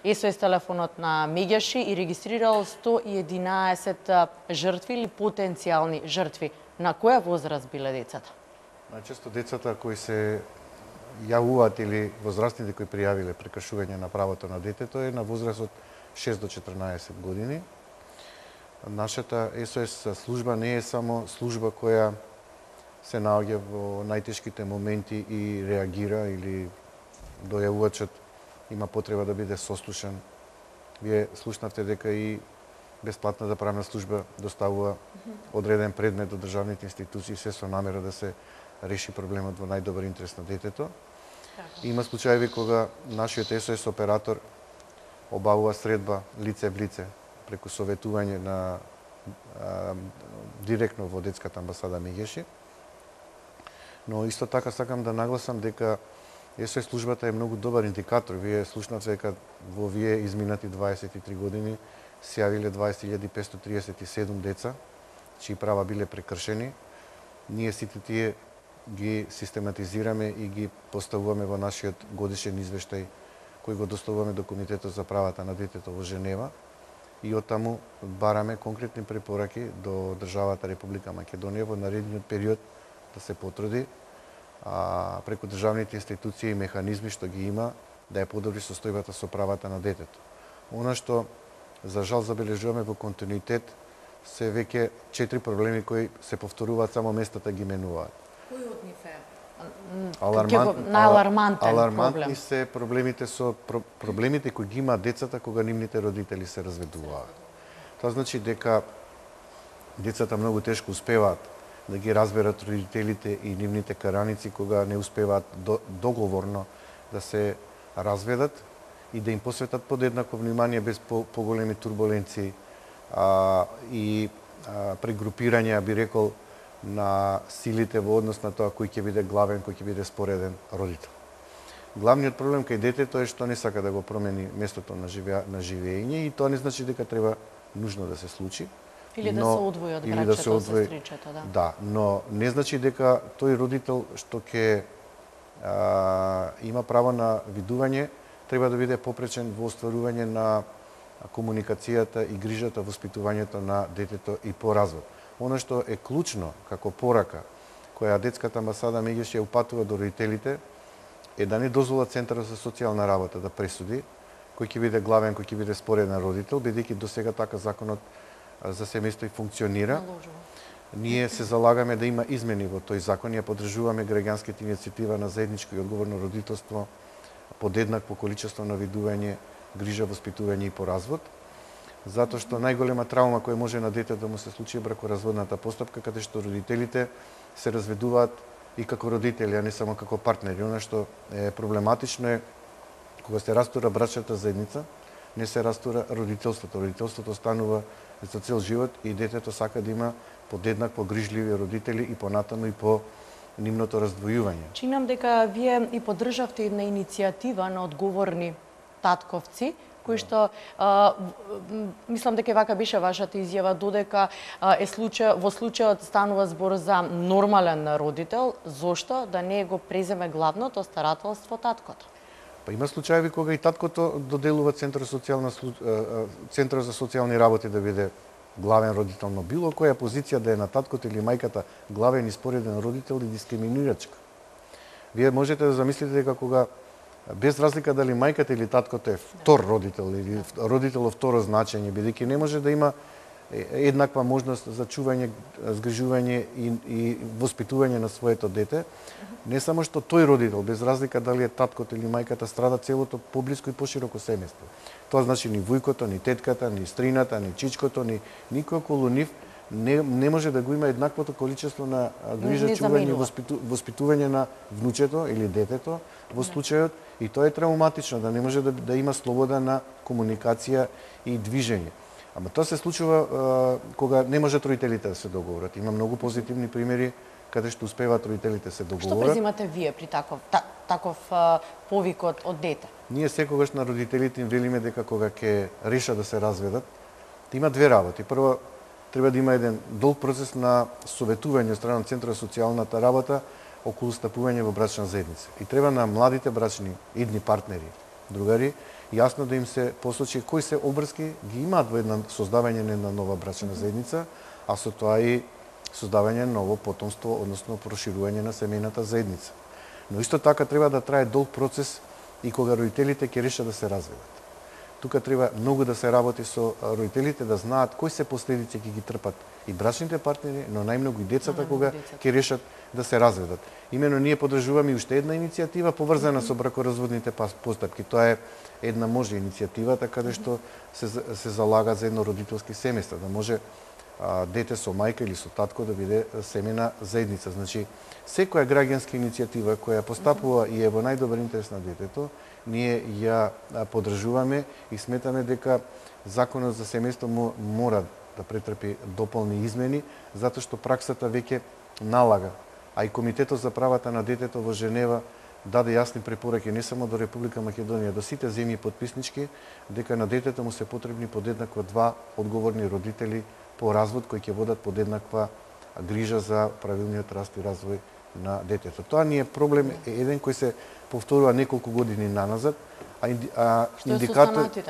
СОС телефонот на Мегјаши и регистрирал 111 жртви или потенцијални жртви. На која возраст биле децата? Најчесто децата кои се јавуваат или возрастните кои пријавиле прекршување на правото на детето е на возраст од 6 до 14 години. Нашата СОС служба не е само служба која се наоѓа во најтешките моменти и реагира или дојавувачот има потреба да биде сослушан. Вие слушнавте дека и бесплатната правна служба доставува одреден предмет до државните институции се со намера да се реши проблемот во најдобар интерес на детето. Има случаеви кога нашиот СОС оператор обавува средба лице в лице преку советување на директно во детската амбасада Мегјаши. Но исто така сакам да нагласам дека СОС службата е многу добар индикатор. Вие слушнавте дека во овие изминати 23 години се јавиле 20.537 деца чии права биле прекршени. Ние сите тие ги систематизираме и ги поставуваме во нашиот годишен извештај кој го доставуваме до Комитетот за правата на детето во Женева и оттаму бараме конкретни препораки до државата Република Македонија во наредниот период да се потруди преку државните институции и механизми што ги има да ја подобри состојбата со правата на детето. Она што за жал забележуваме во континуитет се веќе 4 проблеми кои се повторуваат, само местата ги менуваат. Кој од нив е најалармантен проблем? Алармантни се проблемите кои ги имаат децата кога нивните родители се разведуваат. Тоа значи дека децата многу тешко успеваат да ги разберат родителите и нивните караници кога не успеваат договорно да се разведат и да им посветат подеднакво внимание без поголеми турбуленции и прегрупирања, би рекол, на силите во однос на тоа кој ќе биде главен, кој ќе биде спореден родител. Главниот проблем кај детето е што не сака да го промени местото на живење и тоа не значи дека треба нужно да се случи. Или да се одвои од братчето, сестричето, да. Да, но не значи дека тој родител што ќе има право на видување треба да биде попречен во остварување на комуникацијата и грижата, воспитувањето на детето и по развод. Оно што е клучно како порака која детската амбасада Мегјаши ја упатува до родителите е да не дозволат Центарот за социјална работа да пресуди кој ќе биде главен, кој ќе биде спореден родител, бидејќи до сега така законот за семејство и функционира. Ние се залагаме да има измени во тој закон, ја поддржуваме граѓанската иницијатива на заедничко и одговорно родителство, подеднакво количество на видување, грижа, воспитување и по развод, затоа што најголема травма која може на детето да му се случи е бракоразводната постапка, каде што родителите се разведуваат и како родители, а не само како партнери. Она што е проблематично е кога се растура брачната заедница, не се растура родителството. Родителството станува за цел живот и детето сака да има подеднакво грижливи родители и понатаму и по нивното раздвојување. Чинам дека вие и поддржавте една иницијатива на одговорни татковци, кои што мислам дека вака беше вашата изјава, додека во случајот станува збор за нормален родител, зошто да не го преземе главното старателство таткото? Па има случаеви кога и таткото доделува Центар за социјални работи да биде главен родител, но било која позиција да е на таткото или мајката главен и спореден родител е дискриминирачка. Вие можете да замислите дека кога без разлика дали мајката или таткото е втор родител или родител во второ значење, бидејќи не може да има еднаква можност за чување, згрижување и воспитување на своето дете, не само што тој родител, без разлика дали е таткото или мајката, страда целото поблиско и пошироко семејство. Тоа значи ни вујкото, ни тетката, ни стрината, ни чичкото, ни никој околу нив не може да го има еднаквото количество на грижа, чување и воспитување на внучето или детето во случајот, и тоа е травматично, да не може да има слобода на комуникација и движење. Ама тоа се случува кога не можат родителите да се договорат. Има многу позитивни примери каде што успеваат родителите се договорат. Што презимате вие при таков повик од дете? Ние секогаш на родителите им велиме дека кога ќе решат да се разведат, има две работи. Прво, треба да има еден долг процес на советување од страна на Центарот за социјалната работа околу стапување во брачна заедница. И треба на младите брачни идни партнери другари, јасно да им се посочи кои се обврски ги имаат во една создавање на една нова брачна заедница, а со тоа и создавање на ново потомство, односно проширување на семејната заедница. Но исто така треба да трае долг процес и кога родителите ќе решат да се разведат. Тука треба многу да се работи со родителите, да знаат кои се последици ќе ги трпат и брачните партнери, но најмногу и децата кога ќе решат да се разведат. Имено ние поддржуваме и уште една иницијатива поврзана со бракоразводните постапки. Тоа е една може иницијативата каде што се залага за едно родителски семејство, да може дете со мајка или со татко да биде семејна заедница. Значи, секоја граѓанска иницијатива која постапува и е во најдобар интерес на детето, ние ја поддржуваме и сметаме дека законот за семејство мора да претрпи дополни измени, затоа што праксата веќе налага, а и Комитетот за правата на детето во Женева даде јасни препораки не само до Република Македонија, до сите земји потписнички, дека на детето му се потребни подеднакво два одговорни родители по развод кои ќе водат подеднаква грижа за правилниот раст и развој на детето. Тоа ни е проблем еден кој се повторува неколку години наназад, а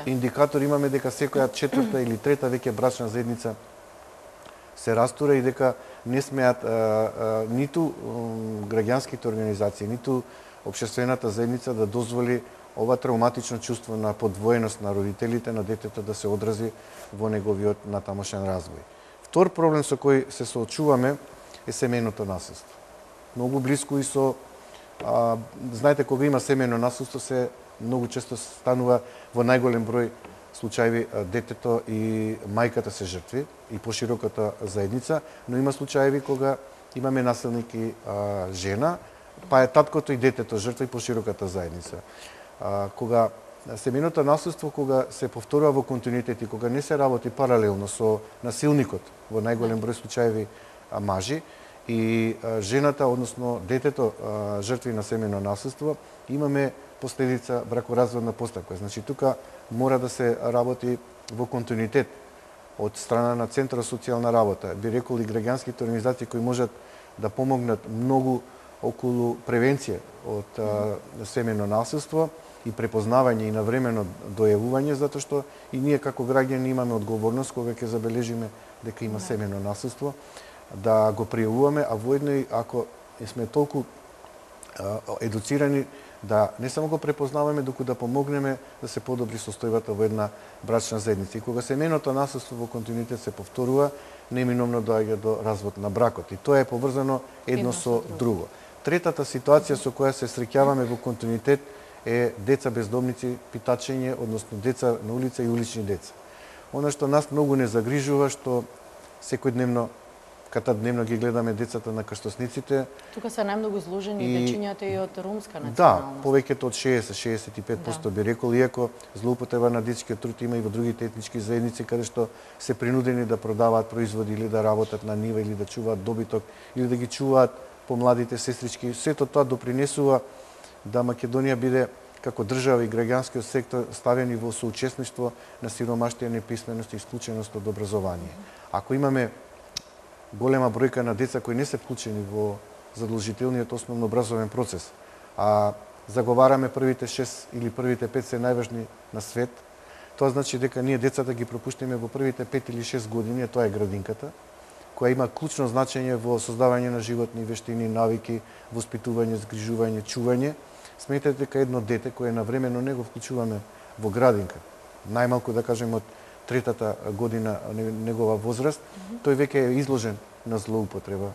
индикатор имаме дека секоја четврта или трета веќе брачна заедница се растура и дека не смеат ниту граѓанските организации, ниту општествената заедница да дозволи ова травматично чувство на подвоеност на родителите на детето да се одрази во неговиот натамошен развој. Втор проблем со кој се соочуваме е семејното насилство. Многу блиску и со знаете, кога има семејно насилство се многу често станува во најголем број случаи детето и мајката се жртви и пошироката заедница, но има случаи кога имаме насилник и жена, па е таткото и детето жртва и пошироката заедница. Кога семејното насилство кога се повторува во континуитет и кога не се работи паралелно со насилникот, во најголем број случаи мажи, и жената, односно детето жртви на семејно насилство, имаме последица бракоразводна постапка. Значи тука мора да се работи во континуитет од страна на Центар за социјална работа, би рекол и граѓанските организации кои можат да помогнат многу околу превенција од семејно насилство и препознавање и навремено дојавување, затоа што и ние како граѓани имаме одговорност кога ќе забележиме дека има семејно насилство, да го пријавуваме, а воедно и ако сме толку едуцирани да не само го препознаваме, доку да помогнеме да се подобри состојбата во една брачна заедница. И кога семејното насилство во континуитет се повторува, неминовно доаѓа до развод на бракот. И тоа е поврзано едно со друго. Третата ситуација со која се среќаваме во континуитет е деца бездомници, питачење, односно деца на улица и улични деца. Она што нас многу не загрижува, што секојдневно дневно ги гледаме децата на крстосниците. Тука се најмногу изложени дечињата и од ромска националност. Да, повеќето од 60-65% би рекол, иако злоупотреба на детскиот труд има и во другите етнички заедници, каде што се принудени да продаваат производи или да работат на нива или да чуваат добиток или да ги чуваат помладите сестрички. Сето тоа допринесува да Македонија биде како држава и граѓанскиот сектор ставени во соучесништво на сиромаштија, неписменост и исклученост од образование. Ако имаме голема бројка на деца кои не се вклучени во задолжителниот основно образовен процес, а заговараме првите 6 или првите 5 се најважни на свет, тоа значи дека ние децата ги пропуштиме во првите 5 или 6 години, а тоа е градинката, која има клучно значење во создавање на животни вештини, навики, воспитување, згрижување, чување. Сметете дека едно дете кое навремено не го вклучуваме во градинка, најмалку да кажем од третата година негова возраст, тој веќе е изложен на злоупотреба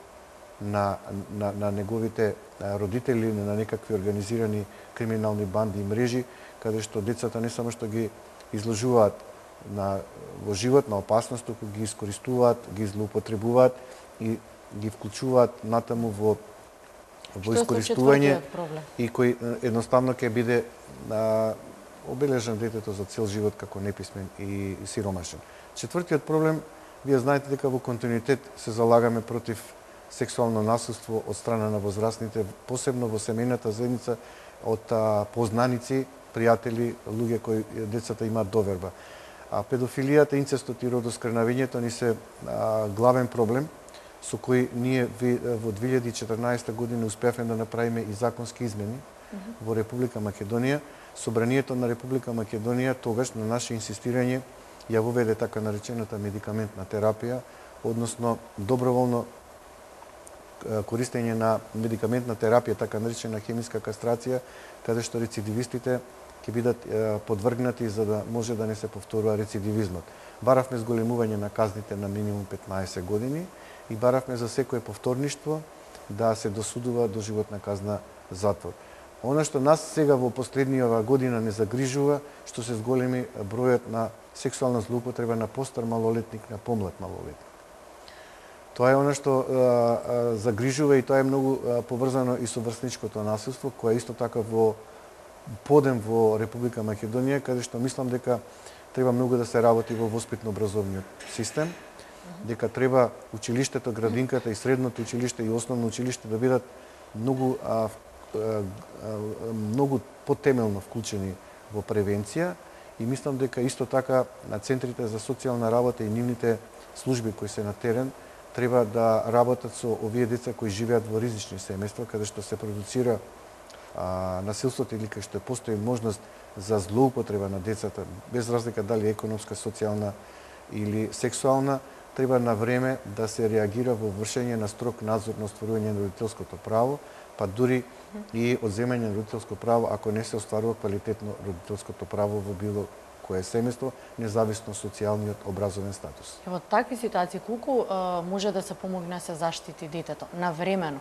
на неговите родители, на некакви организирани криминални банди и мрежи, каде што децата не само што ги изложуваат во живот на опасност, туку ги искористуваат, ги злоупотребуваат и ги вклучуваат натаму во искористување и кој едноставно ќе биде обележан детето за цел живот како неписмен и сиромашен. Четвртиот проблем, вие знаете дека во континуитет се залагаме против сексуално насилство од страна на возрастните, посебно во семејната заедница од познаници, пријатели, луѓе кои децата имаат доверба. Педофилијата, инцестот и родоскрнавењето ни се главен проблем со кој ние во 2014 година успеавме да направиме и законски измени во Република Македонија, Собранието на Република Македонија тогаш на наше инсистирање ја воведе така наречената медикаментна терапија, односно доброволно користење на медикаментна терапија, така наречена хемиска кастрација, каде што рецидивистите ќе бидат подвргнати за да може да не се повторува рецидивизмот. Баравме зголемување на казните на минимум 15 години и баравме за секое повторништво да се досудува до животна казна затвор. Она што нас сега во последниот година не загрижува, што се зголеми бројот на сексуална злоупотреба на постар малолетник на помлад малолетник. Тоа е она што загрижува и тоа е многу поврзано и со врсничкото насилство, кое исто така во подем во Република Македонија, каде што мислам дека треба многу да се работи во воспитно-образовниот систем, дека треба училиштето, градинката и средното училиште и основно училиште да бидат многу потемелно вклучени во превенција и мислам дека исто така на центрите за социјална работа и нивните служби кои се на терен треба да работат со овие деца кои живеат во ризични семејства, каде што се продуцира насилството или кај што постои можност за злоупотреба на децата, без разлика дали економска, социјална или сексуална, треба на време да се реагира во вршење на строг надзор на остварување на родителското право, па дури и одземање на родителско право ако не се остварува квалитетно родителското право во било кое семејство, независно социјалниот образовен статус. Во такви ситуации колку може да се помогне да се заштити детето навремено?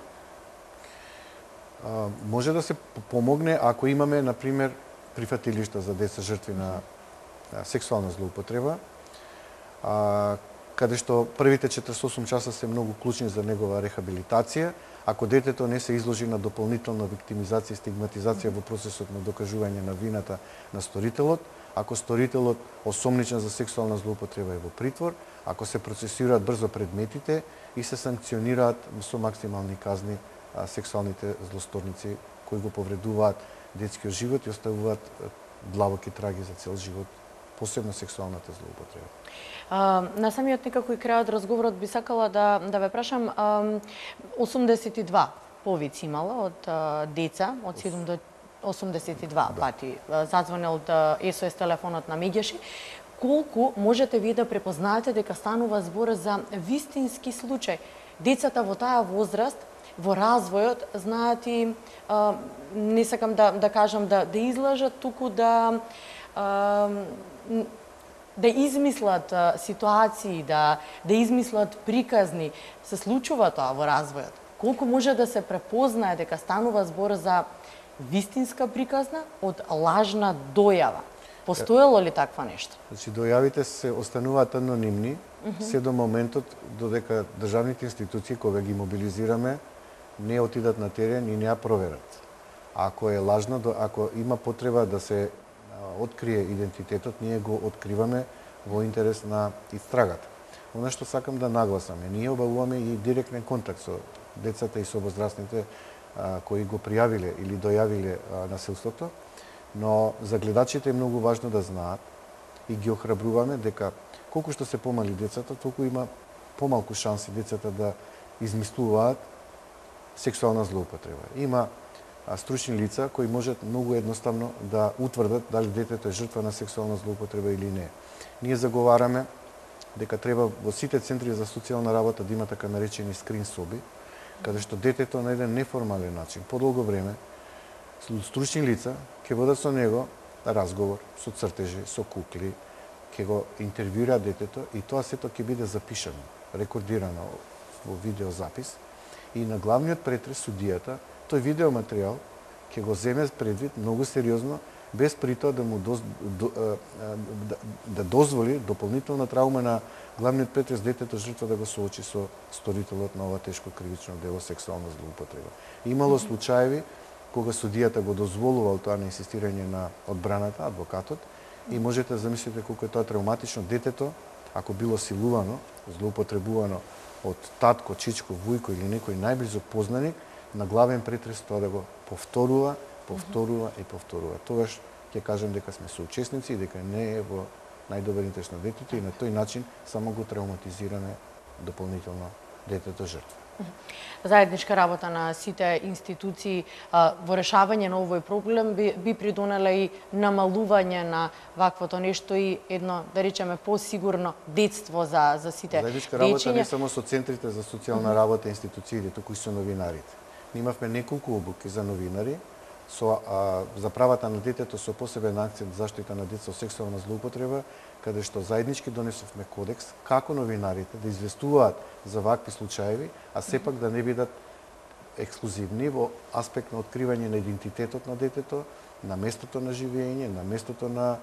Може да се помогне ако имаме, например, прифатилишта за деца жртви на сексуална злоупотреба, каде што првите 48 часа се многу клучни за негова рехабилитација, ако детето не се изложи на дополнителна виктимизација и стигматизација во процесот на докажување на вината на сторителот, ако сторителот осомничен за сексуална злоупотреба е во притвор, ако се процесираат брзо предметите и се санкционираат со максимални казни сексуалните злосторници кои го повредуваат детскиот живот и оставуваат длабоки траги за цел живот, посебно сексуалната злоупотреба. На самиот некако и крајот разговорот би сакала да ве прашам, 82 повици имала од деца од 7 до 82 пати зазвонел СОС телефонот на Меѓаши. Колку можете ви да препознаете дека станува збор за вистински случај? Децата во таа возраст, во развојот, знаат и, не сакам да кажам да излажат, туку да измислат ситуации, да измислат приказни. Се случува тоа во развојот. Колку може да се препознае дека станува збор за вистинска приказна од лажна дојава? Постоело ли таква нешто? Значи, дојавите се остануваат анонимни, се до моментот додека државните институции, кога ги мобилизираме, не отидат на терен и не ја проверат. Ако е лажна, ако има потреба да се открие идентитетот, ние го откриваме во интерес на истрагата. Она што сакам да нагласаме, ние обавуваме и директен контакт со децата и со возрастните кои го пријавиле или дојавиле насилството, но за гледачите е многу важно да знаат и ги охрабруваме дека колку што се помали децата, толку има помалку шанси децата да измислуваат сексуална злоупотреба. Има стручни лица кои можат многу едноставно да утврдат дали детето е жртва на сексуална злоупотреба или не. Ние заговараме дека треба во сите центри за социјална работа да има така наречени скрин соби, каде што детето на еден неформален начин, подолго време, стручни лица ќе водат со него разговор, со цртежи, со кукли, ќе го интервјуираат детето и тоа сето ќе биде запишано, рекордирано во видеозапис и на главниот претрес судијата тој видеоматеријал ќе го земе предвид многу сериозно, без при тоа да му дозволи дополнителна траума на главниот претрес детето жртва да го соочи со сторителот на ова тешко кривично дело сексуална злоупотреба. Имало случаеви кога судијата го дозволувал тоа на инсистирање на одбраната, адвокатот, и можете да замислите колку е тоа травматично. Детето, ако било силувано, злоупотребувано од татко, чичко, вујко или некој најблизок познаник, на главен претрес тоа да го повторува и повторува. Тогаш ќе кажем дека сме соучесници и дека не е во најдобар интерес на детето и на тој начин само го травматизираме дополнително детето жртва. Заедничка работа на сите институции во решавање на овој проблем би придонела и намалување на ваквото нешто и едно, да речеме, посигурно детство за сите Заедничка работа не само со центрите за социјална работа и институциите, туку и со новинарите. Имавме неколку обуки за новинари за правата на детето со посебен акцент заштита на деца од сексуална злоупотреба, каде што заеднички донесовме кодекс како новинарите да известуваат за вакви случаеви, а сепак да не бидат ексклузивни во аспект на откривање на идентитетот на детето, на местото на живење, на местото на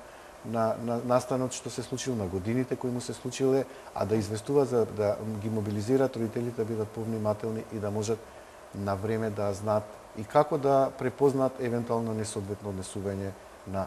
настанот што се случило, на годините кои му се случиле, а да известува за да ги мобилизираат родителите да бидат повнимателни и да можат на време да знаат и како да препознаат евентуално несоодветно однесување на